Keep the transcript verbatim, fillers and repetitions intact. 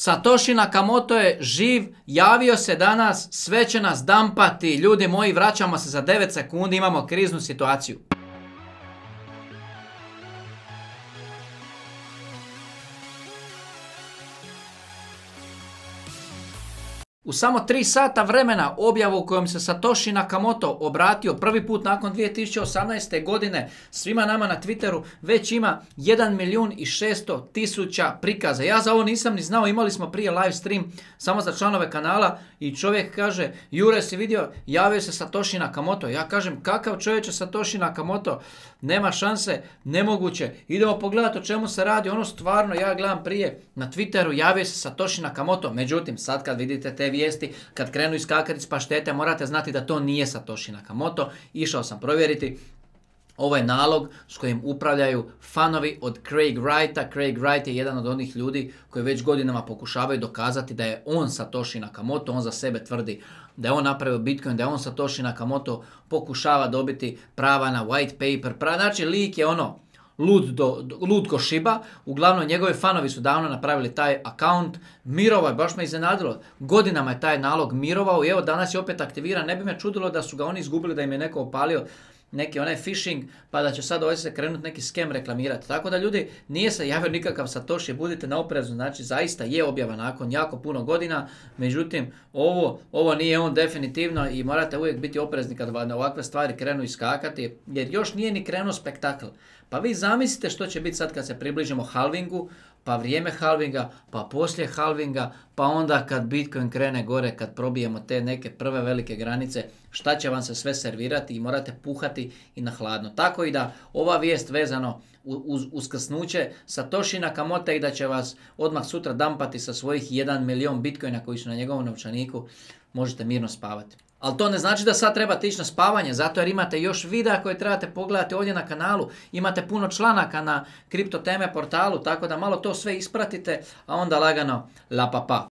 Satoshi Nakamoto je živ, javio se danas, sve će nas dampati. Ljudi moji, vraćamo se za devet sekundi, imamo kriznu situaciju. U samo tri sata vremena objavu u kojom se Satoshi Nakamoto obratio prvi put nakon dvije tisuće osamnaeste. godine svima nama na Twitteru već ima jedan milijun i šesto tisuća prikaza. Ja za ovo nisam ni znao, imali smo prije live stream samo za članove kanala i čovjek kaže: Jure, si vidio, javio se Satoshi Nakamoto. Ja kažem: kakav čovječe Satoshi Nakamoto? Nema šanse, nemoguće. Idemo pogledati o čemu se radi. Ono stvarno, ja gledam prije na Twitteru, javio se Satoshi Nakamoto. Međutim, sad kad vidite te vijesti, kad krenu iskakati iz paštete, morate znati da to nije Satoshi Nakamoto. Išao sam provjeriti. Ovo je nalog s kojim upravljaju fanovi od Craig Wrighta. Craig Wright je jedan od onih ljudi koji već godinama pokušavaju dokazati da je on Satoshi Nakamoto. On za sebe tvrdi da je on napravio Bitcoin, da je on Satoshi Nakamoto, pokušava dobiti prava na white paper. Prava, znači, lik je ono lud, do, lud ko šiba. Uglavnom, njegovi fanovi su davno napravili taj account. Mirovao je, baš me iznenadilo. Godinama je taj nalog mirovao i evo danas je opet aktiviran. Ne bi me čudilo da su ga oni izgubili, da im je neko opalio neki onaj phishing, pa da će sad ovdje se krenuti neki skem reklamirati. Tako da, ljudi, nije se javio nikakav Satoshi, budite na oprezu, znači zaista je objava nakon jako puno godina, međutim ovo, ovo nije on definitivno i morate uvijek biti oprezni kad na ovakve stvari krenu iskakati, jer još nije ni krenuo spektakl. Pa vi zamislite što će biti sad kad se približimo halvingu, pa vrijeme halvinga, pa poslije halvinga, pa onda kad Bitcoin krene gore, kad probijemo te neke prve velike granice, šta će vam se sve servirati i morate puhati i na hladno. Tako i da ova vijest vezano uz uskrsnuće Satoshi Nakamoto i da će vas odmah sutra dampati sa svojih jedan milijun Bitcoina koji su na njegovom novčaniku, možete mirno spavati. Ali to ne znači da sad trebate ići na spavanje, zato jer imate još videa koje trebate pogledati ovdje na kanalu. Imate puno članaka na Kripto Teme portalu, tako da malo to sve ispratite, a onda lagano la pa pa.